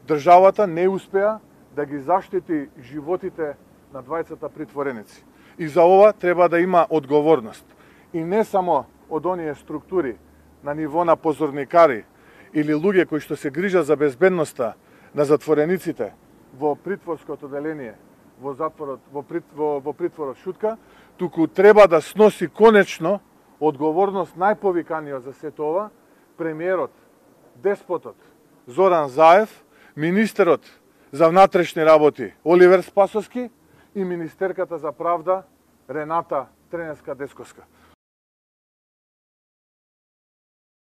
државата не успеа да ги заштити животите на двајцата притвореници. И за ова треба да има одговорност. И не само од оние структури на ниво на позорникари или луѓе кои што се грижат за безбедноста на затворениците во притворското оделение, во затворот, во притворот Шутка, туку треба да сноси конечно одговорност најповиканиот за сето ова, премиерот, деспотот Зоран Заев, министерот за внатрешни работи Оливер Спасовски и министерката за правда Рената Треневска-Десковска.